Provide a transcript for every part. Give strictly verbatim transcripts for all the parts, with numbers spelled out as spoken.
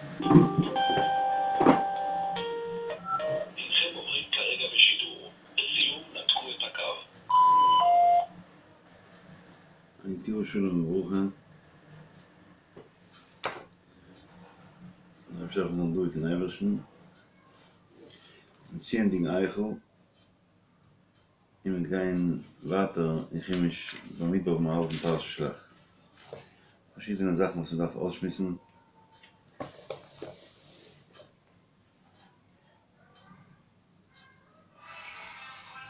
הנכם עוברים כרגע בשידור. לסיום נתקו את הקו. הייתי שלום וברכה. אפשר noch durch den Eiberschen. Ziehen Eichel. Im kein Water, in chemisch, damit auf dem alten Taschenschlag. Verschiedene Sachen, was man darf ausschmissen.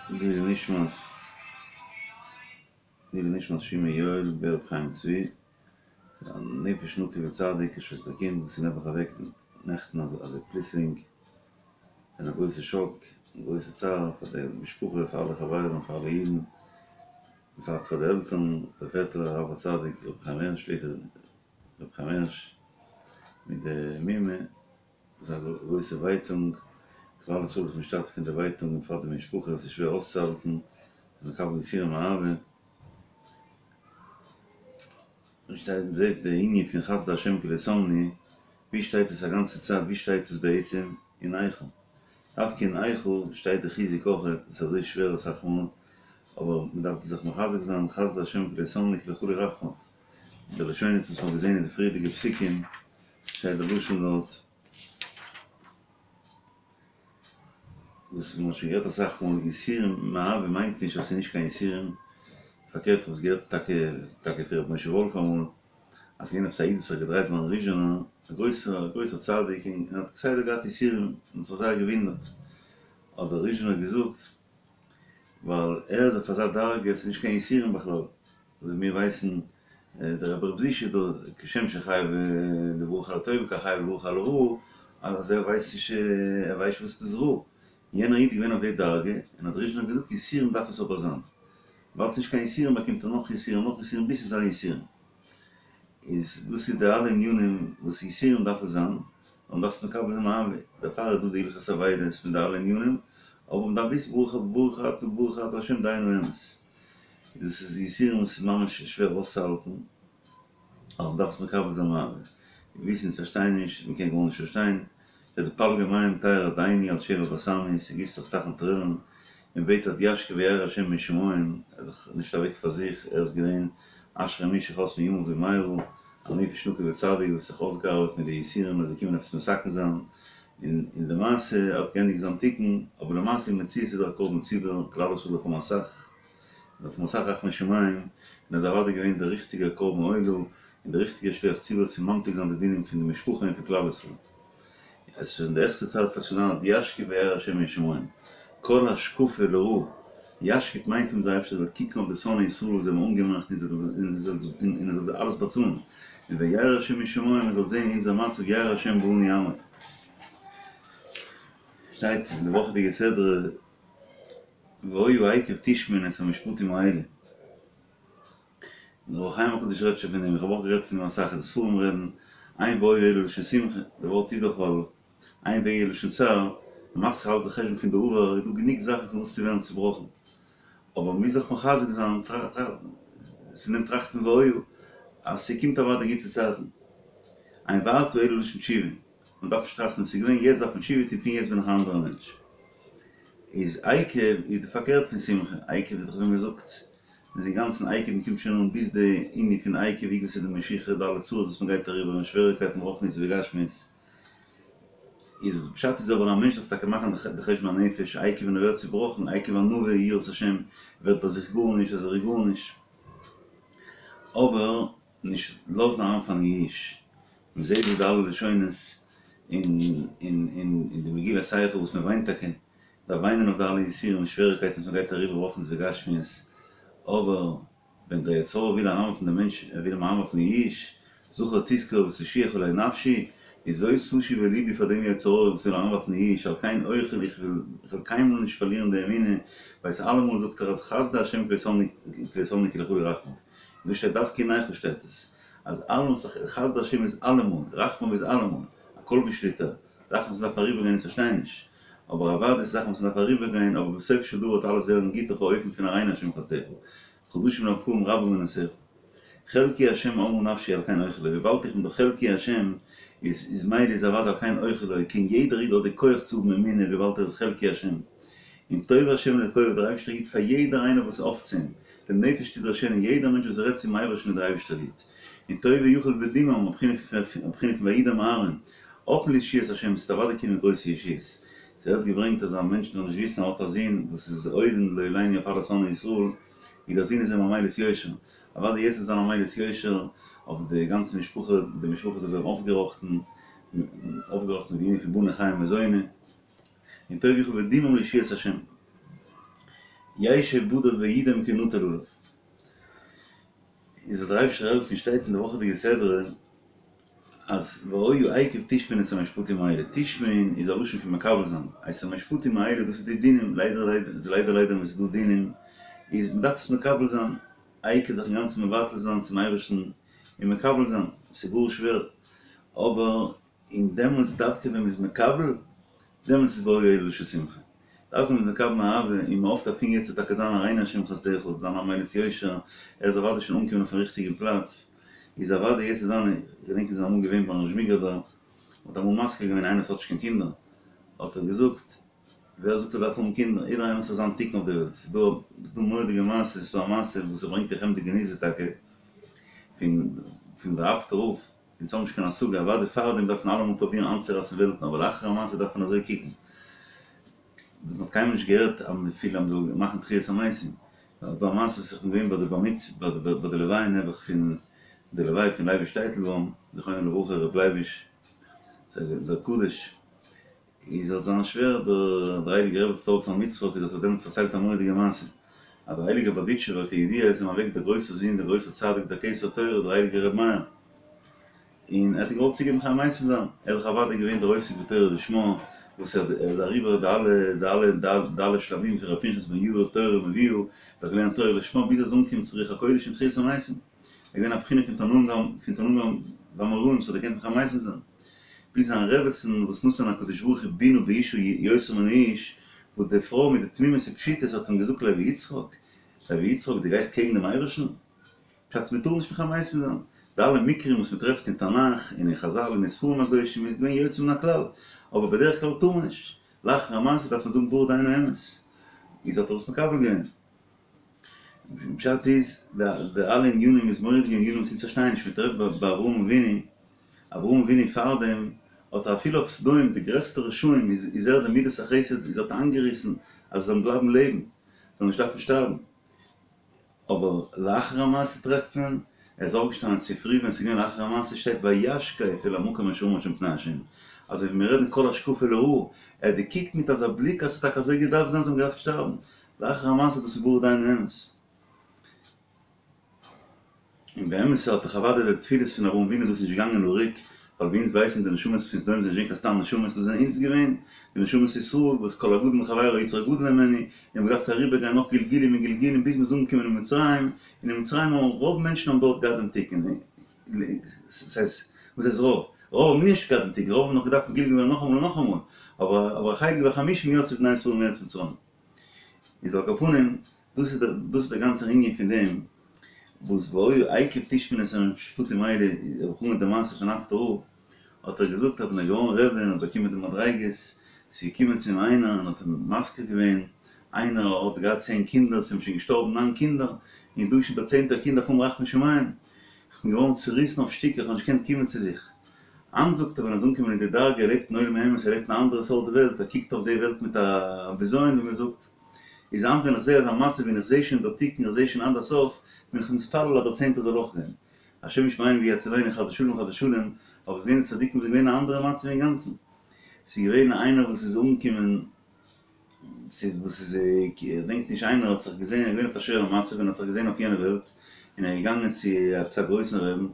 Lili Nishmas, Lili Nishmas Shime Yoel, Ber Chaim Tzvi, Nefesh Nuki וצדיק, שסכין, וסינבח אבק נעכטן, also פליסינג, אין א גרויסע שאק, א גרויסע צער פאר די משפחה, פאר אלע חברים, פאר אלע אידן, בפרט פאר די עלטערן, דער פעטער הרב הצדיק, רב חיים הערש, שליט"א, רב חיים הערש, מיט די מומע, וואס א גרויסע ווייטונג, כלל ישראל איז משתתף אין די ווייטונג, בפרט די משפחה, וואס איז שווער אויסצוהאלטן, מקבל יסורים מאהבה. און שטייט, מ'זעט די ענין פון חסדי השם כי לא תמנו, ווי שטייט עס א גאנצע צייט, ווי שטייט עס בעצם? אין איכה. דווקא אין איכה שטייט די חיזוק אויכעט, עס איז אזוי שווער אסאך מאל, אבער מען דארף זיך מחזק זיין, חסדי השם כי לא תמנו כי לכולו רחמיו. די לשונות וואס מ'האט געזען אין די פריערדיגע פסוקים, שטייט די לשון דארט, וואס מ'האט שוין גערעדט אסאך מאל, יסורים מאהבה מיינט נישט אז ס'איז נישט קיין יסורים, פארקערט כ'האב עס געהערט טאקע טאקע פון ר' משה וואלף אמאל, אז ס'געווען עפעס א איד וואס האט זיך געדרייט ביים ריזשינער, א גרויסער א גרויסער צדיק, און ער האט כסדר געהאט יסורים, און האט זיך זייער געוואונדערט, האט דער ריזשינער געזאגט, ווייל ער איז אויף אזא דרגה, ס'איז נישט קיין יסורים בכלל, אזוי ווי מיר ווייסן, דער רבי ר' זישע דא, כשם שחייב לברך על הטובה כך חייב לברך על הרעה, אז ער ווייסט נישט, ער ווייסט נישט וואס איז רע. יענער איד איז געווען אויף די דרגה, און האט דער ריזשינער געזאגט, יסורים דארף עס אבער זיין. ווייל ס'נישט קיין יסורים באקומט ער נאך יסורים נאך יסורים ביז ס'איז א יסורים. איז דאס איז די אלע ענינים וואס יסורים דארף עס זיין, און מ'דארף עס מקבל זיין מאהבה, דערפאר איז דא די הלכות אבילות פון די אלע ענינים, אבער מ'דארף וויסן ברוך ברוך אתה ברוך אתה ה' דיין האמת. דאס איז יסורים וואס איז ממש שווער אויסצוהאלטן, אבער מ'דארף עס מקבל זיין מאהבה. מיר וויסן אונז פארשטייען נישט, מ'קען גארנישט פארשטיין, וועט די פלגי מים תרד עיני על שבר בת עמי, ס'גיסט זיך טייכן טרערן, און בעט עד ישקיף וירא השם משמים, ער איז דאך נישט אוועק פאר זיך, ער איז געווען אשרי מי שחס מימיו במהרה, א נפש נקי וצדיק וואס האט זיך אויסגעארבעט מיט די יסורים אז זיי קומען עפעס מתקן זיין, און און למעשה האט געענדיגט זיין תיקון, אבער למעשה אין מציאות איז ער א קרבן ציבור, כלל ישראל דארף האבן אסאך, דארף האבן אסאך רחמי שמים, און ער איז אוודאי געווען דער ריכטיגער קרבן עולה, און דער ריכטיגער שליח ציבור צו ממתיק זיין די דינים פון די משפחה און פון כלל ישראל. עס איז שוין די העכסטע צייט ס'זאל שוין זיין עד ישקיף וירא השם משמים. כל השקפה לרעה, ישקיף מיינט אים דער אייבערשטער זאל קוקן אויף די שונאי ישראל וואס זיי האבן אנגעמאכט און ער זאל זיי אלעס באצאלן, און וירא השם משמים ער זאל זען אונזער מצב ירא השם בעני עמו. שטייט אין די וואכעדיגע סדרה והיה עקב תשמעון את המשפטים האלה. דער אור החיים הקדוש רעדט שוין פון דעם, איך האב אויך גערעדט פון דעם אסאך, די ספרים רעדן, אין והיה אלא לשון שמחה, די ווארט איז דאך ווייל אין והיה לשון צער, מען מאכט זיך אלץ די חשבון פון די עבר, איז דא גענוג זאכן פון וואס צו ווערן צובראכן, אבער מען מוז זיך מחזק זיין, פון דעם טראכטן והיה, אז ס'קומט אוודאי גוטע צייטן, אין ועתה אלא לשון תשובה, מען דארף נישט טראכטן וואס איז געווען, יעצט דארף מען תשובה טון, פון יעצט בין איך א אנדערע מענטש. איז עקב איז די פארקערט פון שמחה, עקב איז דאך ווי מען זאגט, מ'איז אינגאנצן עקב, מען קומט שוין אן ביז די ענין פון עקב עקבתא דמשיחא, די אלע צרות וואס מען גייט אריבער און שוועריקייטן רוחניות וגשמיות, איז פשט איז אבער א מענטש דארף טאקע מאכן די חשבון הנפש, עקב ווען ער ווערט צובראכן, עקב ענווה יראת השם, ווערט ביי זיך גארנישט אז ער איז גארנישט, אבער נישט לאזן אריינפאלן אין יאוש, מען זעט דא די אלע לשונות אין אין אין די מגילת איכה וואס מען וויינט טאקע, דארף וויינען אויף די אלע יסורים און שוועריקייטן וואס מען גייט אריבער רוחניות וגשמיות, אבער ווען דער יצר הרע וויל אריינווארפן דעם מענטש, ער וויל אים אריינווארפן אין יאוש, זכור תזכור ותושיע חולי נפשי, איז זאת אשיב אל לבי פאר דעם יצר הרע וואס וויל אריינווארפן אין יאוש, על כן אוכל איך וועל קיינמאל נישט פארלירן די אמונה, ווייל אלעמאל זאגט ער אז חסדי השם כי לא תמנו כי לכולו רחמיו. דא שטייט דווקא אין איכה שטייט עס אז אלעמאל חסדי השם איז אלעמאל, רחמיו איז אלעמאל, הכל בשליטה, זאכן וואס מ'דארף אריבערגיין אונז פארשטייען נישט, אבער אוודאי ס'איז זאכן וואס מ'דארף אריבערגיין, אבער בסוף של דבר וועט אלעס ווערן גוט אויף א אופן פון הראינו השם חסדך, חדשים לבקרים רבה אמונתך. חלקי השם אמרה נפשי על כן אוכל לו, וויבאלד איך בין דאך חלקי השם, איז איז מילא איז אוודאי על כן אוכל לו, קען יעדער איד האט די כח צו האבן אמונה וויבאלד ער איז חלקי השם. און טוב השם לכל, דער אייבערשטער גיט פאר יעדער איינער וואס האפט צו אים, לנפש תדרשנו, יעדער מענטש וואס רעדט צום אייבערשטן איז דער אייבערשטער גוט. און טוב ויכול בדמעם, א בחינה פון וידם אהרן, האפן לישועת השם, ס'וועט אוודאי קומען גרויסע ישועות. ס'ווערט געברענגט אז א מענטש זאל נישט וויסן ער האט א זון וואס איז אויבן לא עלינו אויף אלע שונאי ישראל, און דער זון איז אים א מליץ יושר, אוודאי יעצט וועט זיין א מליץ יושר אויף די גאנצע משפחה, די משפחה זאל ווערן אויפגעראכטן, אויפגעראכטן מיט די ענין פון בני חיי ומזוני, און טוב יוכל בדמעם לישועת השם. ישב בדד וידום כי נטל עליו. איז זאל דער אייבערשטער העלפן שטייט אין די וואכעדיגע סדרה אז והיה עקב תשמעון את המשפטים האלה, תשמעון איז א לשון פון מקבל זיין, את המשפטים האלה דאס איז די דינים, ליידער ליידער איז ליידער ליידער ווען ס'איז דא דינים איז מ'דארף עס מקבל זיין, עקב זיך אינגאנצן מבטל זיין צום אייבערשטן און מקבל זיין, ס'איז גאר שווער, אבער און דעמאלטס דווקא ווען מ'איז מקבל, דעמאלטס איז והיה אלה לשמחה. דווקא מ'איז מקבל מאהבה און מ'האפט אז פון יעצט וועט טאקע זיין הראינו השם חסדך, זיין א מליץ יושר, ער איז אוודאי שוין אנגעקומען אויפן ריכטיגן פלאץ, איז אוודאי יעצט איז זיין, איך געדענק איז אמאל געווען ביים זשמיגראדער, מ'האט אמאל מזכיר געווען איינער וואס האט נישט קיין קינדער, האט ער געזאגט, ווער זאגט ער דארף האבן קינדער, יעדער איינער האט זיין תיקון אויף די וועלט, ס'איז דא, ס'איז דא מורא'דיגע מעשה, ס'איז דא א מעשה וואס ער ברענגט אין חמדה גנוזה טאקע, פון פון דער אפטער רב, אונז האבן נישט קיין השגה, אוודאי פארדעם דארף מען אלעמאל פרובירן איינצורייסן וועלטן, אבער לאחר המעשה דארף מען אזוי קוקן. מען האט קיינמאל נישט געהערט אז מען פיל אז מען זאל מאכן תחיית המתים. ס'איז דא א מעשה וואס איך בין געווען ביי די בר מצוה, ביי די לוויה נעבעך פון די לוויה פון לייביש טייטלבוים, זכרונו לברכה ר' לייביש דער קדוש, איז האט זיין שווער דער הייליגער רבי ר' זלמן יצחק איז האט ער דעמאלטס פארציילט א מורא'דיגע מעשה, אז דער הייליגער בארדיטשובער כידוע איז אים אוועק דער גרויסער זון דער גרויסער צדיק דער כתר תורה דער הייליגער רבי מאיר, און ער האט געוואלט צוגעבן תחיית המתים זיין, ער איז דאך אוודאי געווען דער עוסק בתורה לשמה, וואס ער איז אריבער די אלע די אלע די אלע שלבים פון ר' פנחס בן יאיר תורה מביאה, ער האט געלערנט תורה לשמה ביז ער איז אנגעקומען צו רוח הקודש און תחיית המתים, ער איז געווען א בחינה פון תנאים פון תנאים ואמוראים וואס האט געקענט תחיית המתים זיין. ביז זיין רעבעצן וואס נתן הקדוש ברוך הוא בינה באשה יותר מן האיש, וואס די פרוי מיט די תמימות ופשיטות האט אים געזאגט לוי יצחק, לוי יצחק דו גייסט קעגן דעם אייבערשטן? פשט מען טאר נישט תחיית המתים זיין, די אלע מקרים וואס מען טרעפט אין תנך און אין חזל און אין ספרים הקדושים איז געווען יוצא מן הכלל, אבער בדרך כלל טאר מען נישט, לאחר המעשה דארף מען זאגן ברוך דיין האמת, איז האט ער עס מקבל געווען. פשט איז, די אלע ענינים איז מורא'דיגע ענינים וואס אונז פארשטייען נישט, מען טרעפט ביי אברהם אבינו, אברהם אבינו פארדעם האט ער אפילו אויף סדום די גרעסטע רשעים איז איז ער די מידת החסד איז האט איינגעריסן אז זיי זאלן בלייבן לעבן, זאלן נישט דארפן שטארבן. אבער לאחר המעשה טרעפט מען, ער איז אויפגעשטאנען צופרי ווען ס'איז געווען לאחר המעשה שטייט וישקף אל המקום אשר עמד שם פני השם, אזוי ווי מיר רעדן כל השקפה לרעה, ער האט געקוקט מיט אזא בליק אז ס'האט טאקע אזוי געדארפט זיין זיי האבן געדארפט שטארבן, לאחר המעשה דאס איז ברוך דיין האמת. און באמת האט דאך אוודאי די תפילות פון אברהם אבינו דאס נישט געגאנגען לריק, ווייל ווי אונז ווייסן די נשמות פון סדום זענען נישט געווען קיין סתם נשמות, דאס זענען אונז געווען, די נשמות ישראל, וואס כל הגדול מחבירו יצרו גדול ממנו, און מ'האט געדארפט אריבער גיין נאך גלגולים און גלגולים ביז מ'איז אנגעקומען אין מצרים, און אין מצרים האבן רוב מענטשן האבן דארט געהאט דעם תיקון, ס'הייסט, וואס הייסט רוב? רוב האבן נישט געהאט דעם תיקון, רוב האבן נאך געדארפט מגולגל ווערן נאכאמאל און נאכאמאל, אבער אבער החלק בחמישים יצאו בני ישראל מארץ מצרים. איז על כל פנים, דאס איז דאס איז דער גאנצער ענין פון דעם וואס והיה עקב תשמעון את המשפטים האלה, וכו' די מעשה פון אפטער רב, האט ער געזאגט אז ווען ער איז געווארן רבי און האט באקומען די מדריגות, ס'איז געקומען צו אים איינער און האט אים מזכיר געווען, איינער האט געהאט צען קינדער, ס'זענען שוין געשטארבן ניין קינדער, און דא איז שוין דער צענטער קינד דארף האבן רחמי שמים, איך בין געווארן צוריסן אויף שטיקער, איך האב נישט געקענט קומען צו זיך. היינט זאגט ער ווען ער איז אנגעקומען אין די דרגה, ער לעבט אין עולם האמת, ער לעבט אין א אנדערע סארט וועלט, ער קוקט אויף די וועלט מיט א בזיון ווי מען זאגט, איז היינט ווען איך זעה אזא מצב ווען איך זעה שוין דער תיקון, איך זעה שוין עד הסוף, בין איך מתפלל אז דער צענטער זאל אויך גיין. השם ישמרינו ויצילנו חס ושלום חס ושלום, אבער עס געווען צדיקים וואס איז געווען א אנדערע מצב אינגאנצן. ס'איז געווען איינער וואס איז אנגעקומען צו וואס איז איך געדענק נישט איינער האט זיך געזען ער איז געווען אויף א שווערע מצב און האט זיך געזען אויף יענע וועלט און ער איז געגאנגען צו עפעס א גרויסן רעבן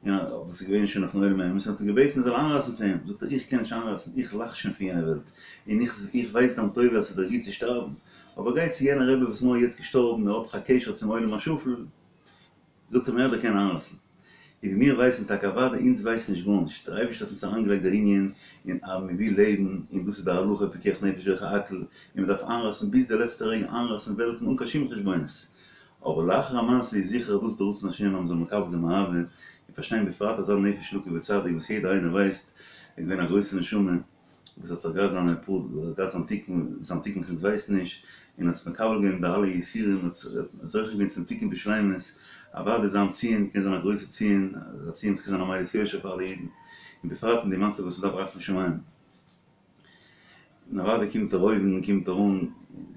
און וואס איז געווען שוין אויפן עולם האמת און האט אים געבעטן ער זאל איינרייסן פאר אים, זאגט ער איך קען נישט איינרייסן איך לאך שוין פון יענע וועלט און איך איך ווייס דיין טובה אז ס'איז דיר גוט צו שטארבן אבער גיי צו יענע רבי וואס איז נאר יעצט געשטארבן ער האט דאך א קשר צום עולם השפל זאגט אים ער קען איינרייסן. און ווי מיר ווייסן טאקע אוודאי אונז ווייסן נישט גארנישט, דער אייבערשטער האט אונז אריינגעלייגט דער ענין אין אז מען וויל לעבן און דאס איז די הלכה פיקוח נפש דוחה הכל און מען דארף איינרייסן ביז די לעצטע רגע איינרייסן וועלטן אן קיין שום חשבונות, אבער לאחר המעשה איז זיכער דאס די רצון השם אז מען זאל מקבל זיין מאהבה, און פארשטיין בפרט אזא נפש נקי וצדיק וואס יעדער איינער ווייסט איז געווען א גרויסע נשמה וואס האט זיך געהאט זיינע פאר געהאט זיין תיקון זיין תיקון וואס אונז ווייסן נישט און האט זיך מקבל געווען די אלע יסורים האט זוכה געווען צום תיקון בשלימות אוודאי זיין ציון קען זיין א גרויסע ציון א ציון וואס קען זיין א מליץ יושר פאר אלע אידן און בפרט אין די מצב וואס מ'דארף רחמי שמים. און אוודאי קומט ער אויבן, קומט ער אן,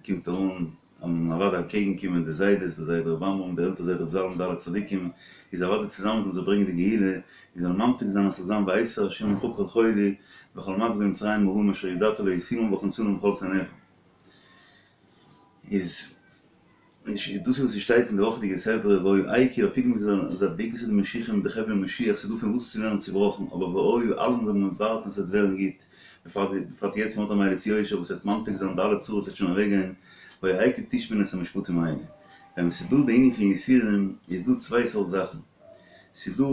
קומט ער אן, און אוודאי אנטקעגן קומען די זיידעס, די זיידע ר' עמרם, די עלטער זיידע ר' זלמן, די אלע צדיקים, איז אוודאי צוזאמען זאלן זיי ברענגען די גאולה, און זאלן ממתיק זיין אז ס'זאל זיין והסיר ה' ממך כל חולי, וכל מדביר מצרים הרעים אשר ידעת לא ישימם והכניסם בכל שונאיך. איז דאס איז וואס ס'שטייט אין די וואכעדיגע סדרה והיה עקב אפילו מ'איז אזא בעקבתא דמשיחא מיט די חבלי משיח ס'איז דא פון וואס צו ווערן צובראכן אבער והיה אלעמאל זאל מען ווארטן ס'וועט ווערן גוט בפרט בפרט יעצט מ'האט א מליץ יושר וואס וועט ממתיק זיין די אלע צרות וועט שוין אוועק גיין והיה עקב תשמעון את המשפטים האלה ווען ס'איז דא די ענין פון יסורים איז דא צוויי סארט זאכן ס'איז דא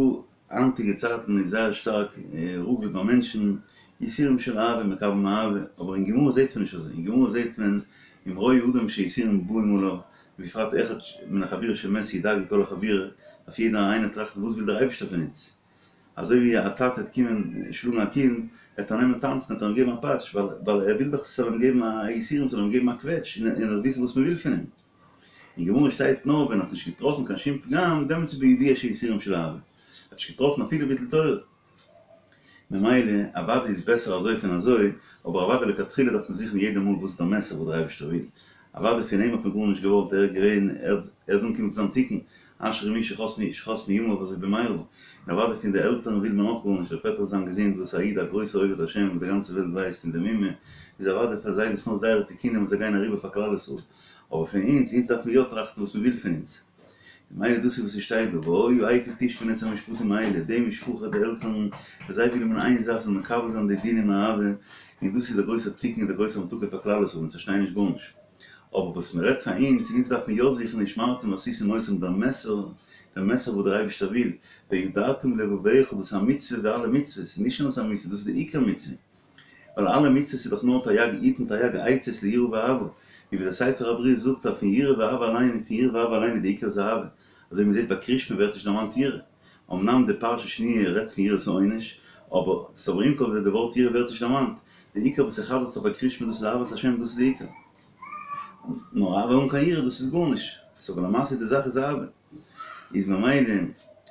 היינטיגע צייטן איז זייער שטארק רגיל ביי מענטשן, יסורים של אהבה מקבל מאהבה, אבער אין גמרא זעהט מען נישט אזוי, אין גמרא זעהט מען אם רואה אדם שיסורים באים עליו, ובפרט אחד מן החבורה שמת ידאגו כל החבורה, דארף יעדער איינער טראכטן וואס וויל דער אייבערשטער פון אונז, אזוי ווי א טאטע וועט קומען שלאגן א קינד, וועט ער נעמען טאנצן, וועט ער אים געבן א פאטש, ווייל ער וויל דאך ס'זאל אים געבן א יסורים, ס'זאל אים געבן א קוועטש, און ער זאל וויסן וואס מ'וויל פון אים. אין גמרא שטייט נאר ווען ער האט נישט געטראפן קיין שום פגם דעמאלטס איז בידוע שיסורים של אהבה, ער האט נישט געטראפן אפילו ביטול תורה, ממילא אוודאי איז בעסער אזוי פון אזוי, אבער אוודאי לכתחילה דארף מען זוכן יעדע מאל וואס איז דער מסר וואס דער אייבערשטער וויל, אוודאי פון אים האט מען גארנישט געוואלט ער איז געווען ער איז אנגעקומען צו זיין תיקון, אשרי מי שחס מימיו אזוי במהרה, און אוודאי פון די עלטערן וויל מען אויך גארנישט, דער פעטער זיין געזונט וואס א איד א גרויסע עובד השם וואס די גאנצע וועלט ווייסט און די מומע איז אוודאי פאר זיי איז עס נאר זייערע תיקונים וואס זיי גייען אריבער פאר כלל ישראל. אבער פון אונז, אונז דארף מען יא טראכטן וואס מען וויל פון אונז. ממילא דאס איז וואס ס'שטייט דא, והיה עקב תשמעון את המשפטים האלה, די משפחה, די עלטערן, וואס זיי ווילן איין זאך, זאלן מקבל זיין די דינים מאהבה, און דאס איז דער גרויסער תיקון און דער גרויסער המתקה פאר כלל ישראל, אונז פארשטייען נישט גארנישט. אבער וואס מען רעדט פאר אונז, אונז דארף מען יא זוכן ושמרתם ועשיתם אותם דער מסר, דער מסר וואס דער אייבערשטער וויל, וידעת בלבבך, דאס איז א מצוה ווי אלע מצוות, נישט נאר ס'איז א מצוה, דאס איז די עיקר מצוה. ווייל אלע מצוות איז דאך נאר תרי"ג היתן תרי"ג עצות ליראה ואהבה, און ווי דער ספר הברית זאגט אז פון יראה ואהבה אליין און פון יראה ואהבה אליין איז די עיקר איז אהבה, אזוי ווי מ'זעט ביי קריאת שמע ווערט נישט דערמאנט יראה, אמנם די פרשה שניה רעדט פון יראת העונש, אבער ס'אבער עם כל זה די ווארט יראה ווערט נישט דערמאנט, די עיקר וואס ס'חזר'ט זיך ביי קריאת שמע דאס איז אהבת השם דאס איז די עיקר. נאר אהבה אן קיין יראה דאס איז גארנישט, סאו אבער למעשה די זאך איז אהבה. איז ממילא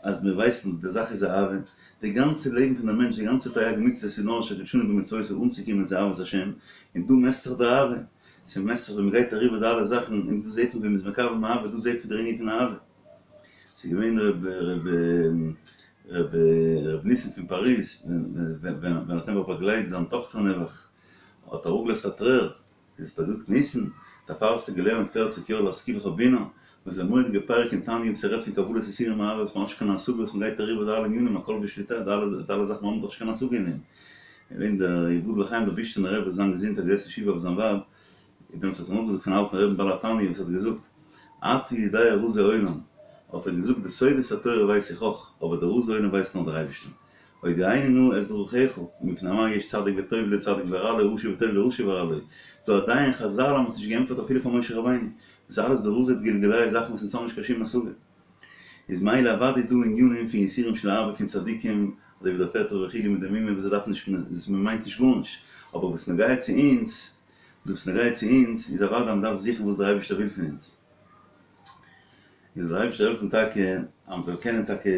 אז מיר ווייסן די זאך איז אהבה, די גאנצע לעבן פון די מענטש, די גאנצע תרי"ג מצוות איז נאר אשר קדשנו במצוותיו אנצוקומען צו אהבת השם, און דא מעסט זיך די אהבה, ס'מעסט זיך ווען מ'גייט אריבער די אלע זאכן, און דא זעט מען ווי מ'איז מקבל מאהבה, דא זעט מען דער ענין פון אהבה. ס'איז געווען ר' ר' ר' ניסן פון פאריז, ווען ווען ער האט נעבעך באגלייט זיין טאכטער נעבעך, האט ער אראפגעלאזט א טרער, איז האט ער געזאגט ניסן, דערפאר האסטו געלערנט פערציג יאר להשכילך בינה, וואס איז א מורא'דיגע פרק אין תניא וואס ער רעדט פון קבלת יסורים מאהבה וואס מ'האט נישט קיין השגה וואס מ'גייט אריבער די אלע ענינים הכל בשליטה די אלע די אלע זאכן מ'האט דאך נישט קיין השגה אין דעם. געווען דער יבדל לחיים דער בישטינער רבי זיין געזונט האט געזעסן שבעה אויף זיין ווייב, און דעמאלטס האט ער נאכגעזאגט פון אלטן רבי'ן בעל התניא וואס האט געזאגט אתה יודע רזי עולם, האט ער געזאגט די סודות התורה ווייס איך אויך, אבער די רזי עולם ווייסט נאר דער אייבערשטער. הודיעני נא את דרכיך, מפני מה יש צדיק וטוב לו צדיק ורע לו רשע וטוב לו רשע ורע לו, ס'דא עדיין חזל אז מ'האט נישט געענטפערט אפילו פאר משה רבינו, דאס איז אלעס די רזי דגלגולי' זאכן וואס אונז האבן נישט קיין שום השגה. איז מילא אוודאי דא ענינים פון יסורים של אהבה פון צדיקים, אזוי ווי דער פעטער וכו' מיט די מומע וואס זיי דארפן נישט מ'מיינט נישט גארנישט, אבער וואס נוגע צו אונז, וואס נוגע צו אונז איז אוודאי אז מ'דארף זוכן וואס דער אייבערשטער וויל פון אונז. און זאל דער אייבערשטער העלפן טאקע אז מ'זאל קענען טאקע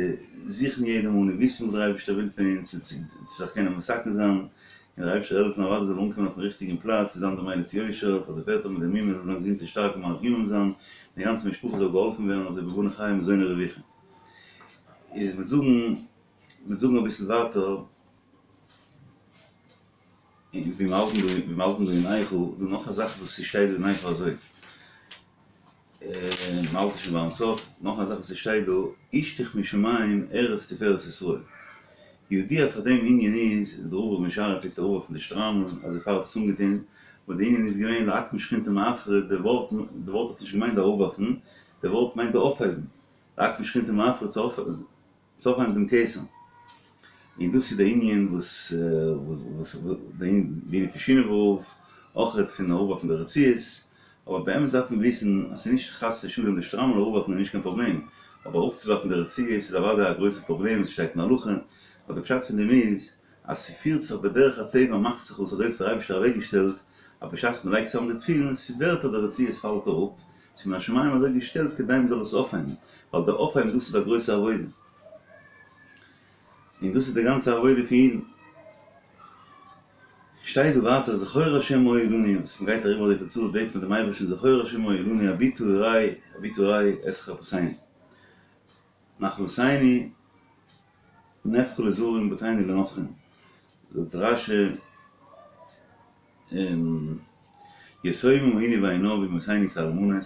זוכן יעדע מאל און וויסן וואס דער אייבערשטער וויל פון אונז און צו זיך קענען מתקן זיין, און דער אייבערשטער העלפן אוודאי זאל אנקומען אויפן ריכטיגן פלאץ צו זיין דער מליץ יושר פאר די פעטער מיט די מומע זאלן זיין געזונט און שטארק און מאריך ימים זיין, די גאנצע משפחה זאל געהאלפן ווערן אזוי בבני חיי ומזוני רויחי. איז מיר זאגן מיר זאגן אביסל ווייטער. און ווי מיר האלטן דא ווי מיר האלטן דא אין איכה, דא נאך א זאך וואס ס'שטייט דא אין איכה אזוי. מ'האלט שוין ביים סוף, נאך א זאך וואס ס'שטייט דא, השליך משמים ארץ תפארת ישראל. ידוע פאר דעם ענין איז, דער רבי ר' משריה פלעגט אראפווארפן די שטריימל, אזוי פאר ער האט עס אנגעטון, וואס די ענין איז געווען לאקום שכינתא מעפרא, די ווארט די ווארט האט נישט געמיינט די אראפווארפן, די ווארט מיינט די אויפהייבן, לאקום שכינתא מעפרא צו צו אויפהייבן דעם כתר. און דאס איז די ענין וואס וואס די ענין פון שינאווער רב, אויכעט פון אראפווארפן די רצועות, אבער באמת דארף מען וויסן אז ס'איז נישט חס ושלום די שטריימל אראפווארפן איז נישט קיין פראבלעם, אבער אראפצואווארפן די רצועות איז אוודאי א גרויסע פראבלעם, עס שטייט אין הלכה, אבער די פשט פון דעם איז אז ס'פירט זיך בדרך הטבע מאכט זיך אויס אזוי האט עס דער אייבערשטער אוועקגעשטעלט אז בשעת מ'לייגט צוזאם די תפילין ס'ווערט אז די רצועות פאלט אראפ, ס'איז מן השמים אזוי געשטעלט כדי מ'זאל עס אויפהייבן, ווייל דער אויפהייבן דאס איז א גרויסע עבודה. און דאס איז די גאנצע עבודה פון אידן. שטייט דא ווייטער זכור השם מה היה לנו, וואס מ'גייט אריבער אזויפיל צרות בעט מען דעם אייבערשטן זכור השם מה היה לנו הביטה וראה הביטה וראה את חרפתנו נחלתנו נהפכה לזרים בתינו לנכרים, זאגט רש"י יתומים היינו ואין עם ואמותינו כאלמנות,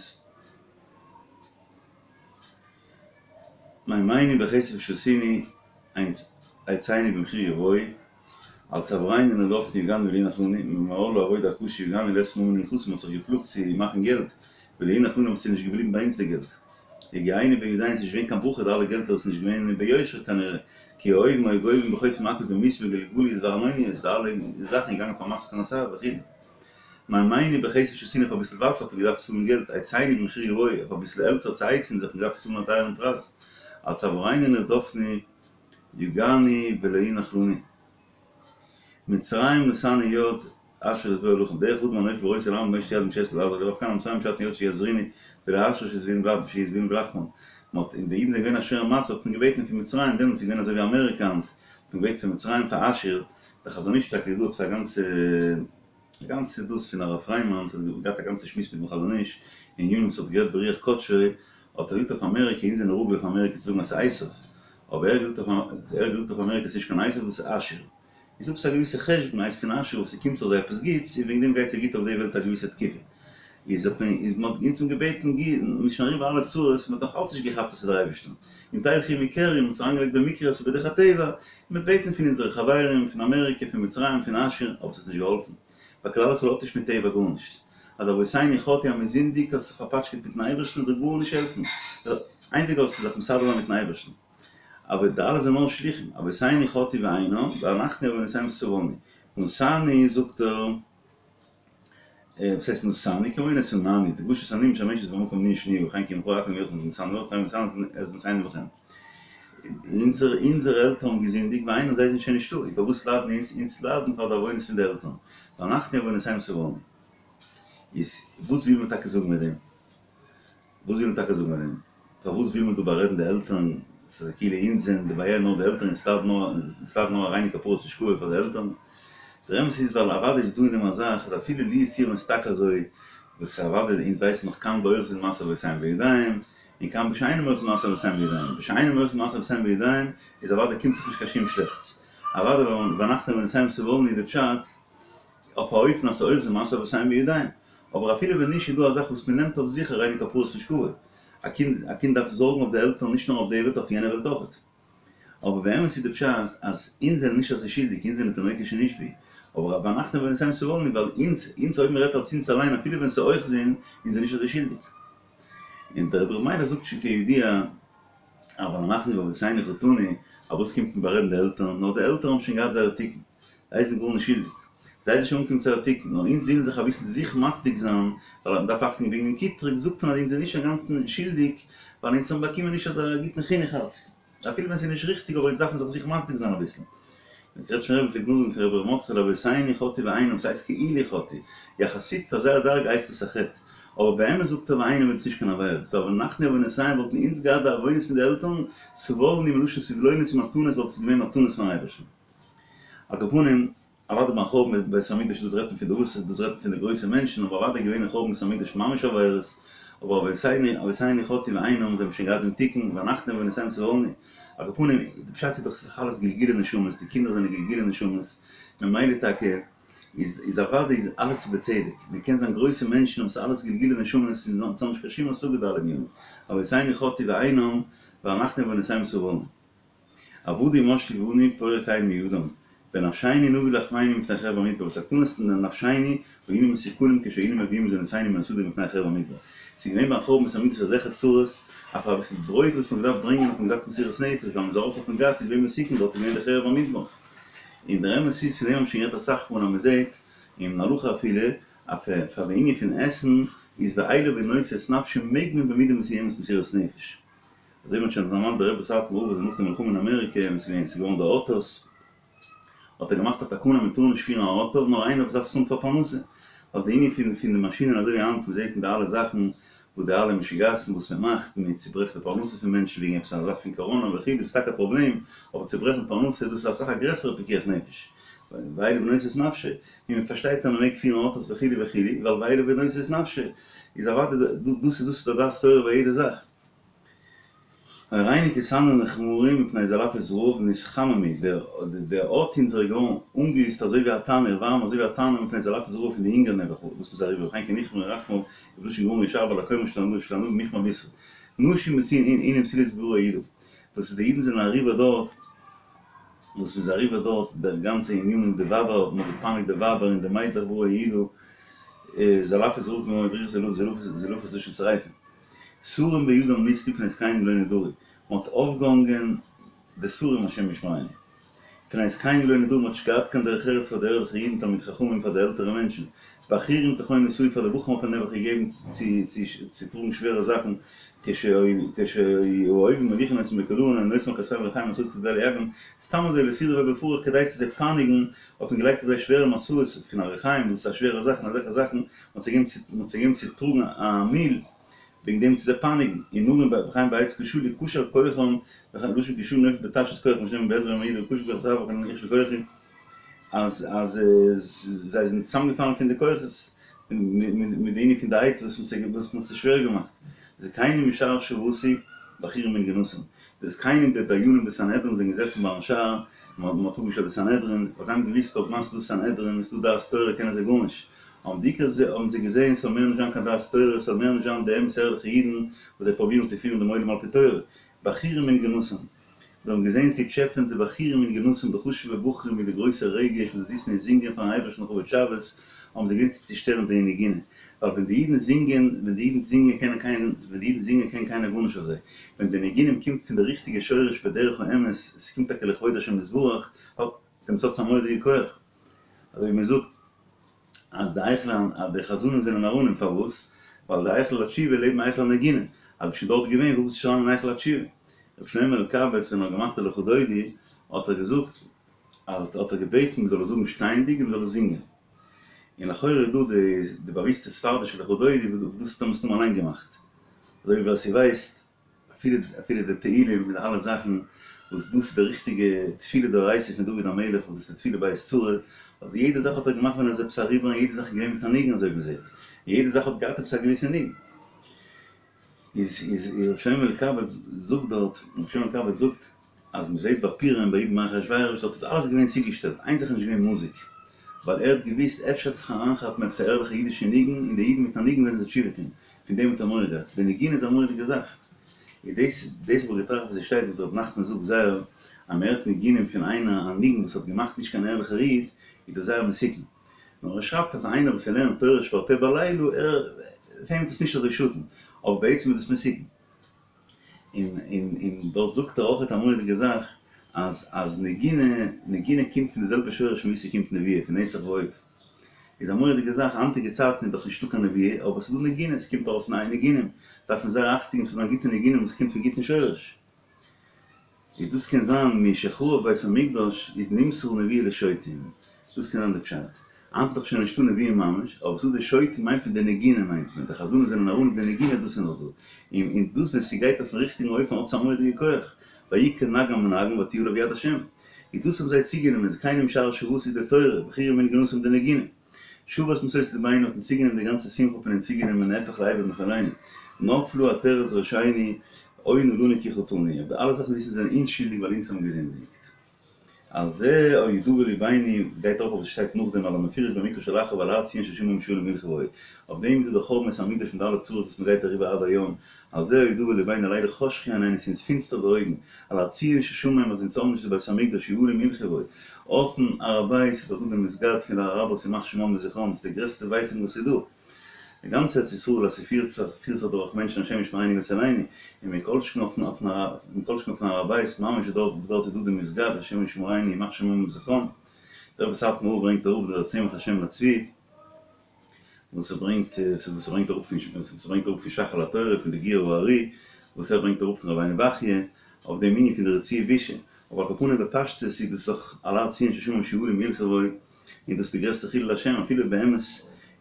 מימינו בכסף שתינו עצנו במחיר גבוה, על צוארינו נרדפנו יגענו ולא יונח לנו, ממעול העבודה הקשה יגענו לית מאן מנחתא, מ'האט זיך געפלאגט צו מאכן געלט, ולא יונח לנו ס'איז נישט געבליבן ביי אונז די געלט. יגיענו בידינו ס'איז נישט געווען קיין ברכה די אלע געלטער איז נישט געווען ביושר כנראה, כי האויבים היו גובים בחוטפים מכות במסים בגלגולות וארנוניות, די אלע זאכן איז געגאנגען פאר מס הכנסה וכו'. מימינו בכסף שתינו אויף אביסל וואסער האט מען געדארפט צאלן געלט, עצנו במחיר גבוה, אויף אביסל העלצער צו הייצן האט מען געדארפט צאלן א טייערן פרייז, על צוארינו נרדפנו יגענו ולא יונח לנו. מצרים נתנו יד אשור לשבוע לחם, דרך אדם הנופל ורוצה לעמוד מושיט יד מושטת לעזרו לבב כאן המצרים הושטין יד שיעזרונו ולאשור שישביענו בלחמם, מ'האט און די אידן זענען געווען א שווערע מצב האט מען געבעטן פון מצרים דעמאלטס איז געווען אזוי ווי אמעריקע היינט האט מען געבעטן פון מצרים פאר אשור, דער חזון איש טאקע איז דא עפעס א גאנצע א גאנצע דאס פון הרב פריימאן האט געהאט א גאנצע שמועס מיטן חזון איש אין ענינים וואס האט גערעדט ברוח קדשו האט ער געזאגט אויף אמעריקע אונז זענען רגיל אויף אמעריקע צו זאגן אז ס'איז עשו אבער ער האט געזאגט אויף ער האט געזאגט אויף אמעריקע ס'נישט קיין עשו דאס איז אשור איז עפעס א געוויסע חשבון הייסט פון אשור וואס ס'קומט זיך זיי עפעס גוטס און וועגן דעם גייט זיי גוט אויף די וועלט א געוויסע תקופה איז האט מען איז מ'האט אונז האבן געבעטן גוט מ'איז שוין אריבער אלע צרות מ'האט נאך אלץ נישט געכאפט אז ס'איז דער אייבערשטער אם תלכו עמי קרי מ'האט עס אריינגעלייגט במקרה אז ס'איז בדרך הטבע מ'האט בעטן פון אונזערע חברים פון אמעריקע פון מצרים פון אשור אבער ס'האט נישט געהאלפן ווייל כלל ישראל האט נישט מיט טבע גארנישט אז אבותינו חטאו אז מ'זינדיגט האסט זיך פארפאטשקעט מיטן אייבערשטן וועט דיר גארנישט העלפן איין וועג האסטו זיך מסדר זיין מיטן אייבערשטן אבער די אלע זענען נאר שליחים אבותינו חטאו ואינם ואנחנו בעונותינו סבלנו נשאנו זאגט ער וואס הייסט נשאנו? כמו נתנני, דגשת הנון משמשת במקום נון שניה וכן כי ממך הכל מלכם נתנו לכם ונתנו את בנותינו לכם. אונזערע אונזערע עלטערן האבן געזינדיגט ואינם זיי זענען שוין נישטא, איז פארוואס ליידן אונז? אונז ליידן פאר די עוונות פון די עלטערן, ואנחנו בעונותינו סבלנו. איז וואס וויל מען טאקע זאגן מיט דעם? וואס וויל מען טאקע זאגן מיט דעם? פארוואס וויל מען דא בארעדן די עלטערן? ס'איז כאילו אונז זענען די בעיה נאר די עלטערן אונז ליידן נאר אונז ליידן נאר הריני כפרת משכבו פאר די עלטערן. דער אמת איז ווייל אוודאי איז דא אין דעם א זאך אז אפילו לו יצויר ווען ס'איז טאקע אזוי וואס אוודאי אונז ווייסן נאך כאן באוחזין מעשה אבותיהם בידיים און כאן בשאינם אוחזין מעשה אבותיהם בידיים בשאינם אוחזין מעשה אבותיהם בידיים איז אוודאי קומט זיך נישט קיין שום שלעכטס אוודאי ואנחנו בעונותינו סבלנו איז די פשט אויף א אופן אז ס'אוחזין מעשה אבותיהם בידיים אבער אפילו ווען נישט איז דא א זאך וואס מען נעמט אויף זיך הריני כפרת משכבו, א קינד א קינד דארף זארגן אויף די עלטערן נישט נאר אויף די וועלט אויף יענע וועלט אויכעט. אבער באמת איז די פשט אז אונז זענען נישט אזוי שולדיג אונז זענען תינוקות שנשבו, אבער ואנחנו בעונותינו סבלנו ווייל אונז אונז אויב מען רעדט אלס אונז אליין אפילו ווען ס'איז אוחזין אונז זענען נישט אזוי שולדיג. און דער רבי ר' מיילך זאגט שוין כידוע אבל אנחנו בעוונותינו חטאנו, אויף וואס קומט מען בארעדן די עלטערן, נאר די עלטערן האבן שוין געהאט זייער תיקון, זיי זענען גארנישט שולדיג, זיי זענען שוין אנגעקומען צו זייער תיקון, נאר אונז ווילן זיך אביסל זיך מצדיק זיין, ווייל מען דארף אכטונג וועגן דעם קיטרוג, זאגט מען אז אונז זענען נישט אינגאנצן שולדיג, ווייל אונז האבן באקומען נישט אזא גוטן חינוך אלץ, אפילו ווען ס'איז נישט ריכטיג אבער אונז דארפן זיך זיך מצדיק זיין אביסל. דער קרעטשמער רבי פלעגט נאכזאגן פון רבי ר' מרדכי'לע אבותינו חטאו ואינם, ס'הייסט כאילו חטאו, יחסית פאר זייער דרגה הייסט עס א חטא, אבער באמת זאגט ער ואינם איז עס נישט קיין עבירה, ס'איז ואנחנו בעונותינו וואלטן אונז געהאט די עוונות פון די עלטערן, סבלנו מלשון סבלונות ומתנות וואלט עס געווען מתנות פון אייבערשטן. על כל פנים, אוודאי ביים חורבן בית המקדש דאס רעדט מען פון די אבות, דאס רעדט מען פון די גרויסע מענטשן, אבער אוודאי געווען אין חורבן בית המקדש ממש עבירות, אבער אבותינו אבותינו חטאו ואינם זיי האבן שוין געהאט דעם תיקון, ואנחנו בעונותינו סבלנו. על כל פנים, די פשט איז דאך ס'איז דאך אלעס גלגולי נשמות, די קינדער זענען גלגולי נשמות, ממילא טאקע איז איז אוודאי איז אלעס בצדק, מען קען זיין גרויסע מענטשן אבער ס'איז אלעס גלגולי נשמות און אונז האבן נישט קיין שום השגה די אלע ענינים, אבותינו חטאו ואינם ואנחנו בעונותינו סבלנו. עבדו ומשלו בנו פורק עול מידם, בנפשנו נביא לחמנו מפני חרב המדבר, בתקנת נפשנו היינו מסוכלים כשהיינו מביאים מזונותינו מן השדה מפני חרב המדבר. ס'איז געווען ביים חורבן בית המקדש אזעלכע צרות, אויף אביסל ברויט וואס מ'האט געדארפט ברענגען האט מען געדארפט מסירות נפש, ווייל מ'איז ארויס אויפן גאס איז געווען מסוכן, דארט איז געווען די חרב המדבר. און דער אמת איז פון דעם האבן שוין גערעדט אסאך מאל אז מ'זעט אין הלכה אפילו אז פאר די ענין פון עסן איז ואליו הוא נושא את נפשו מעג מען במידה מסוימת מסירות נפש. אזוי ווי מ'האט שוין דערמאנט דער רבי סאטמאר רב איז נאך די מלחמה אין אמעריקע ווען ס'איז געווען ס'איז געווארן די אויטאס האט ער געמאכט א תקנה מען טאר נישט פירן א אויטא נאר איינער וואס דארף עס האבן פאר פרנסה ווייל די ענין פון פון די מאשינען אזוי ווי היינט מ'זעט אין די אלע זאכן וואס די אלע משוגעת'ן וואס מ'מאכט מען צוברעכט די פרנסה פון מענטשן וועגן עפעס א זאך פון קאראנא וכו' דאס איז טאקע א פראבלעם אבער צוברעכן פרנסה דאס איז אסאך א גרעסערע פיקוח נפש ואלה בנושא את נפשי און מען פארשטייט אז מען מעג פירן אויטאס וכו' וכו' ווייל ואלה בנושא את נפשי איז אוודאי דאס איז דאס איז די דעת תורה ביי יעדע זאך. עורנו כתנור נכמרו מפני זלעפות רעב נתחממו, דער הויט אונזער איז געווארן אנגעהיצט אזוי ווי א תנור, ווארעם אזוי ווי א תנור מפני זלעפות רעב פון די הונגער נעבעך וואס מ'איז אריבער וכן כי נכמרו רחמיו ובלשון גמרא ישר בעל הקומה של ענבים נכמר בשרא נשים בציון עינו בתולות בערי יהודה וואס איז די אידן זענען אריבער דארט וואס מ'איז אריבער דארט דער גאנצע ענין מיט די ווייבער מ'האט געפייניגט די ווייבער און די מיידלעך בערי יהודה זלעפות רעב זלעפות לשון שריפה. שרים בידם נתלו מפני זקנים לא נדרו, מען האט אויפגעהאנגען די שרים השם ישמרינו, מפני זקנים לא נדרו, מען האט נישט געהאט קיין דרך ארץ פאר די ערליכע אידן תלמידי חכמים פאר די עלטערע מענטשן, בחורים טחון נשאו פאר די בחורים האט מען נעבעך געגעבן צו טראגן שווערע זאכן, כשהאויבים מוליכין אותם בקלעון היו נושאים על כתפיהם ריחיים משאות כדי ליגעם, סתם אזוי לסדרה בפרך כדי צו זיי פייניגן האט מען געלייגט אויף זיי שווערע משאות פון א ריחיים וואס איז א שווערע זאך און אזעלכע זאכן, מען האט זיי געגעבן צו טראגן א מיל וועגן דעם צו זיי פייניגן, ונערים בחיים בעץ כשלו כשל כוחם, לשון כשלו נופל בתשת כוחם שנאמר בעז ב מעיד וכשל כוח זאב וכן איך של כוחי, אז אז זיי זענען צוזאמגעפאלן פון די כוחות, מיט די ענין פון די עץ וואס מען האט זיי שווער געמאכט, זקנים משער שותי בחורים מנגינתם, די זקנים די דיינים די סנהדרין זענען געזעצן ביים שער, מען האט אפגעשטעלט די סנהדרין, ווייל זיי האבן געוואוסט כל זמן ס'איז דא סנהדרין, ס'איז דא דעת תורה קענען זיי גארנישט, האבן די עיקר האבן זיי געזען ס'זאל מער נישט זיין קיין דעת תורה, ס'זאל מער נישט זיין די אמת ערליכע אידן וואס זיי פרובירן צו פירן דעם עולם על פי תורה, בחורים מנגינתם, זיי האבן געזען צו טשעפען די בחורים מנגינתם די חשוב'ע בחורים מיט די גרויסע רגש וואס זיי זיצן און זינגען פארן אייבערשטן לכבוד שבת, האבן זיי געזען צו צושטערן די נגינה, ווייל ווען די אידן זינגען, ווען די אידן זינגען קענען קיין, ווען די אידן זינגען קען קיינער גארנישט אויף זיי, ווען די ניגונים קומט פון די ריכטיגע שורש בדרך האמת, עס קומט טאקע לכבוד השם יתברך, האט דעם צד א מורא'דיגע כח, אזוי ווי מען זאגט אז די היכל אז די חזנים זענען נאראנים פארוואס? ווייל די היכל התשובה לעבן היכל הנגינה, אז ביסט שוין דארט געווען וואס ביסטו שוין אריין אין היכל התשובה? רבי שלמה אלקבץ ווען ער האט געמאכט די לכה דודי האט ער געזאגט אז האט ער געבעטן מען זאל עס זאגן שטייענדיג און מען זאל עס זינגען, און לכאורה איז דא די די באוויסטע ספרדישע לכה דודי וואס דאס האט ער מסתמא אליין געמאכט, אזוי ווי ווער ס'ווייסט אפילו אפילו די תהלים מיט אלע זאכן וואס דאס איז די ריכטיגע תפילה דאורייתא פון דוד המלך וואס דאס איז די תפילה בעת צרה, אבער יעדע זאך האט ער געמאכט ווען ער איז עפעס אריבער און יעדע זאך איז געווען מיט א ניגון אזוי ווי מ'זעט, און יעדע זאך האט געהאט עפעס א געוויסע ניגון. איז איז רבי שלמה אלקבץ זאגט דארט, רבי שלמה אלקבץ זאגט אז מ'זעט ביי פורים ביי ויבא אחשורוש דארט איז אלעס געווען צוגעשטעלט, איין זאך איז נישט געווען מוזיק, ווייל ער האט געוואוסט אפשר וועט זיך אריינכאפן עפעס א ערליכע אידישע ניגון און די אידן מיט א ניגון וועלן זיי תשובה טון, פון דעם האט ער מורא געהאט, די נגינה איז א מורא'דיגע זאך. איז דאס דאס האב איך געטראכט וואס עס שטייט וואס ר' נחמן זאגט זייער אז מען הערט ניגונים פון איינער א ניגון וואס האט געמאכט נישט קיין ערליכער איד איז דאס זייער מסוכן. נאר ער שרייבט אז איינער וואס ער לערנט תורה שבעל פה בלילה ער פאר אים וועט עס נישט אזוי שאטן אבער בעצם איז דאס מסוכן. און און און דארט זאגט ער אויכעט א מורא'דיגע זאך אז אז נגינה נגינה קומט פון די זעלבע שורש פון וואו ס'קומט נבואה פון נצח והוד. איז א מורא'דיגע זאך, היינטיגע צייטן איז דאך נישטא קיין נבואה, אבער ס'איז דא נגינה, ס'קומט ארויס נייע ניגונים, דארף מען זייער אכטונג געבן ס'זאל זיין גוטע ניגונים וואס קומט פון גוטן שורש. איז דאס קען זיין משחרב בית המקדש איז נמסרה נבואה לשוטים, דאס קען זיין די פשט. היינט איז דאך שוין נישטא נבואה ממש, אבער ס'איז דא די שוטים מיינט מען די נגינה מיינט מען, די חזנים זענען נאראנים די נגינה דאס איז נאך דא. און און דאס ווען ס'גייט אויפן ריכטיגן אופן האט עס א מורא'דיגע כח, ויהי כנגן מנגן ותהי עליו יד השם. איז דאס האבן זיי צוגענומען, זקנים משער שותי די תורה, בחורים מנגינתם די נגינה. שבת משוש לבנו האט מען צוגענומען די גאנצע שמחה האט מען אונז צוגענומען נהפך לאבל מחולנו. נפלה עטרת ראשנו, אוי נא לנו כי חטאנו. אויף די אלע זאכן וויסן זיי זענען אונז שולדיג ווייל אונז האבן געזינדיגט. על זה אודוה לבנו גייט ארויף אויף וואס שטייט נאכדעם על המפורש במקרא שלאחריו ועל הר ציון ששמה שיעלו מלכי בו. אויף דעם איז דער חורבן בית המקדש מיט די אלע צרות וואס מ'גייט אריבער עד היום, על זה אודוה לבנו על אלה חשכו עינינו ס'איז אונז פינסטער די אויגן, על הר ציון ששמה אז אונז האבן נישט די בית המקדש שיעלו מלכי בו, אויפן הר הבית איז דאך דא די מסגד פון די אראבערס ימח שמם וזכרם, ס'איז די גרעסטע ווייטאג וואס איז דא. די גאנצע ארץ ישראל אז ס'פירט זיך פירט זיך דורך מענטשן השם ישמרינו ויצילנו, און מכל שכן אויפן אויפן מכל שכן אויפן הר הבית ממש איז דארט דארט איז דא די מסגד השם ישמרינו ימח שמם וזכרם, דער רבי סאטמאר רב ברענגט אראפ דער צמח השם לצבי, וואס ער ברענגט וואס ער ברענגט אראפ פון וואס ער ברענגט אראפ פון ש"ך על התורה פון די גור הארי וואס ער ברענגט אראפ פון רבינו בחיי אויף דעם ענין פון די רצועה בישה, אבער על כל פנים בפשטות איז דאס דאך על הר ציון ששמה משועלים ילכו בו, און דאס איז די גרעסטע חילול השם, אפילו באמת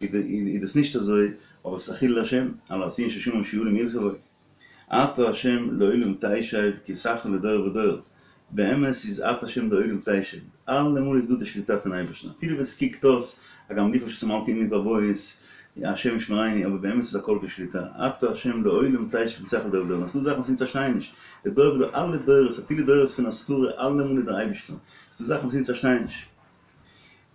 איז דאס נישט אזוי, אבער עס איז א חילול השם, על הר ציון ששמה משועלים ילכו בו. אתה השם לעולם תשב כסאך לדור ודור, באמת איז אתה השם לעולם תשב, אלעמאל איז דא די שליטה פון אייבערשטן, אפילו ווען ס'קוקט אויס, הגם ליכא ששמלכי עמי בבית, השם ישמריני, אבער באמת איז הכל בשליטה, אתה השם לעולם תשב כסאך לדור ודור, און ס'דא זאכן וואס אונז פארשטייען נישט, לדור ודור, אלע דורות, אפילו דורות פון הסתרה, אלעמאל איז דער אייבערשטער, ס'דא זאכן וואס אונז פארשטייען נישט.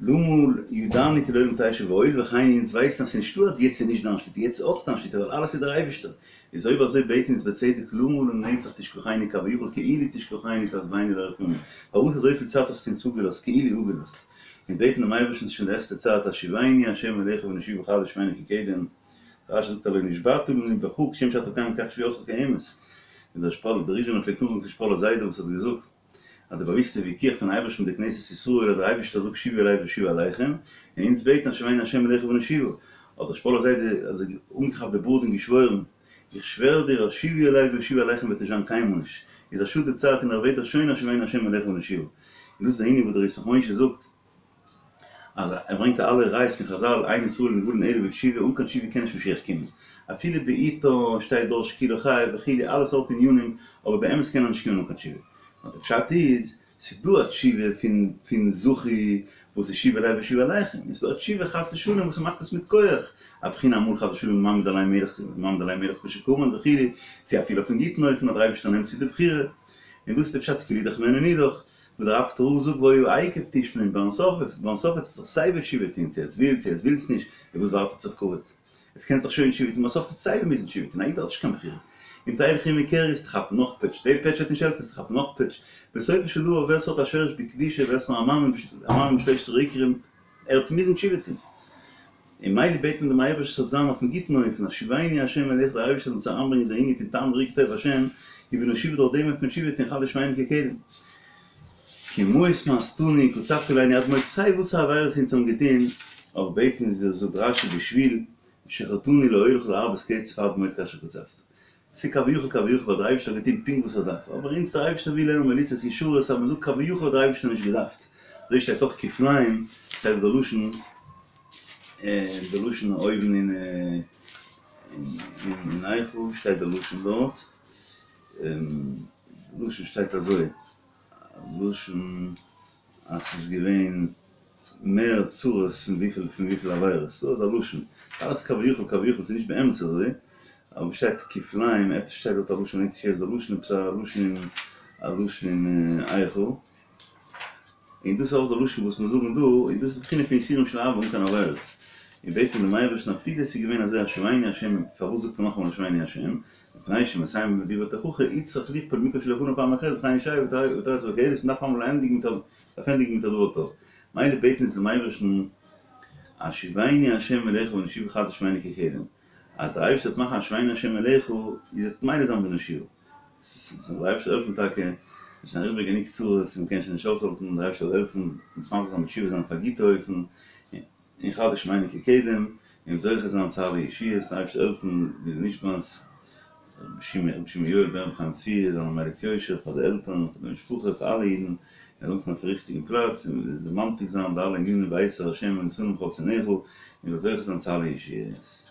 למה ידענו כי לעולם תשב והואיל וכן אונז ווייסן אז ס'איז נישטא אז יעצט איז נישט דיין שליטה, יעצט איז אויך דיין שליטה ווייל אלעס איז דער אייבערשטער, איז אויב אזוי בעטן אונז בצדק למה לנצח תשכחנו כביכול כאילו תשכחנו תעזבנו לאורך ימים, פארוואס אזויפיל צייט האסטו אונז אפגעלאזט כאילו אפגעלאזט, אונז בעטן דעם אייבערשטן ס'איז שוין די העכסטע צייט השיבנו ה' אליך ונשובה חדש שמנו כקדם, רש"י זאגט הלא נשבעת לנו בך כשם שאתה קיים כך שבועתך קיימת, און דער שפאלער דער ריזשינער פלעגט נאכזאגן פון שפאלער זיידע וואס האט געזאגט. אז די באוויסטע וויכוח פון אייבערשטן מיט די כנסת ישראל אז דער אייבערשטער זאגט שובו אלי ואשובה אליכם, און אונז בעטן השיבנו השם אליך ונשובה, האט דער שפאלער זיידע אזוי אנגעכאפט די בארד און געשוואוירן, איך שווער דיר אז שובו אלי ואשובה אליכם וועט נישט זיין קיינמאל נישט, איז א שאד די צייט און איך בעט דיך שוין השיבנו השם אליך ונשובה. און דאס איז די ענין וואס דער ישמח משה זאגט, אז ער ברענגט אלע ראיות פון חזל אין ישראל נגאלין אלא בתשובה, אן קיין תשובה קען נישט משיח קומען, אפילו בעתה שטייט דור שכולו חייב וכו' אלע סארט ענינים, אבער באמת קען ער נישט קומען אן קיין תשובה. נאר די פשט איז, ס'איז דא א תשובה פון פון זכו וואס איז שובו אלי ואשובה אליכם, און ס'איז דא א תשובה חס ושלום וואס מ'מאכט עס מיט כח, א בחינה אמאל חס ושלום מעמיד עליהם מלך מעמיד עליהם מלך כשר כהמן וכו', צו אפילו אויפן גוטן אופן אז דער אייבערשטער נעמט צו די בחירה, און דאס איז די פשט כאילו אידך ממנו נידח. וואס דער אפטער רב זאגט והיה עקב תשמעון ביים סוף ביים סוף וועט עס זיך סיי ווי תשובה טוהן צו עטס ווילט צו עטס ווילטס נישט און וואס ווארט עטס אויף כבוד עטס קענטס דאך שוין תשובה טוהן ביים סוף וועט עטס סיי ווי מוזן תשובה טוהן א איד האט נישט קיין בחירה אם תלכו עמי קרי וועסטו כאפן נאך פעטש די פעטש וועט נישט העלפן וועסטו כאפן נאך פעטש בסופו של דבר ווער ס'האט א שורש בקדושה ווער ס'נאר א מאמין בשלושת העיקרים ער וועט מוזן תשובה טוהן. און מילא בעט מען דעם אייבערשטן ס'זאל זיין אויפן גוטן אופן, השיבנו ה' אליך דער אייבערשטער זאל אונז אריינברענגען די ענין פון טעם וראו כי טוב ה', ונשובה דורך דעם וועט מען תשובה טון חדש שמנו כקדם. כי מאוס מאסתנו קצפת עלינו עד מאוד סיי וואס א עבירות אונז האבן געטון, אבער בעט אונז זאגט רשי בשביל שחטאנו להולך להרבות קצף עד מאוד כאשר קצפת. ס'איז כביכול כביכול האט דער אייבערשטער געטון פונקט וואס ער דארף, אבער אונז דער אייבערשטער וויל לערנען מליצות ישרות אז מ'זאגט כביכול האט דער אייבערשטער נישט געדארפט, אזוי שטייט אויך כפליים, שטייט די לשון די לשון אויבן אין אין איכה שטייט די לשון דארט, די לשון שטייט אזוי, לשון אז ס'איז געווען מער צרות פון וויפיל פון וויפיל עבירות, דא איז א לשון, אלעס כביכול כביכול ס'איז נישט באמת אזוי, אבער שטייט כפליים, עפעס שטייט דארט א לשון נישט יעצט די לשון, עפעס א לשון אין א לשון אין איכה, און דאס איז אויך די לשון וואס מיר זאגן דא, און דאס איז די בחינה פון יסורים של אהבה אן קיין עבירות, און בעט מען דעם אייבערשטן אפילו עס איז געווען אזוי השיבנו השם, פארוואס זאגט מען נאכאמאל השיבנו השם, מפני שמסיים בדברי תוכחה הוצרך לכפול מקרא שלפניו פעם אחרת וכן ישעי' ותרס וקהלת מ'דארף אמאל ענדיגן מיט א דארף ענדיגן מיט א דבר טוב מילא בעטן אונז דעם אייבערשטן השיבנו ה' אליך ונשובה חדש שמנו כקדם אז דער אייבערשטער וועט מאכן השיבנו ה' אליך איז וועט מילא זיין ונשובה זאל דער אייבערשטער העלפן טאקע מ'איז שוין אריבער גענוג צרות און מ'קען שוין נישט אויסהאלטן דער אייבערשטער זאל העלפן אונז ממשיך זיין מיט תשובה זיין אויף א גוטע אופן און חדש שמנו כקדם, און זוכה זיין צו אלע ישועות, דער אייבערשטער זאל העלפן די נשמת רבי שמעון יואל בן רבי חיים צבי זאל האבן מליץ יושר פאר די עלטערן, פאר די משפחה, פאר אלע אידן, ער זאל אנקומען אויפן ריכטיגן פלאץ, און זאל ממתיק זיין די אלע ענינים והסיר ה' ונתנו מכל שונאיך, און זאל זוכה זיין צו אלע ישועות.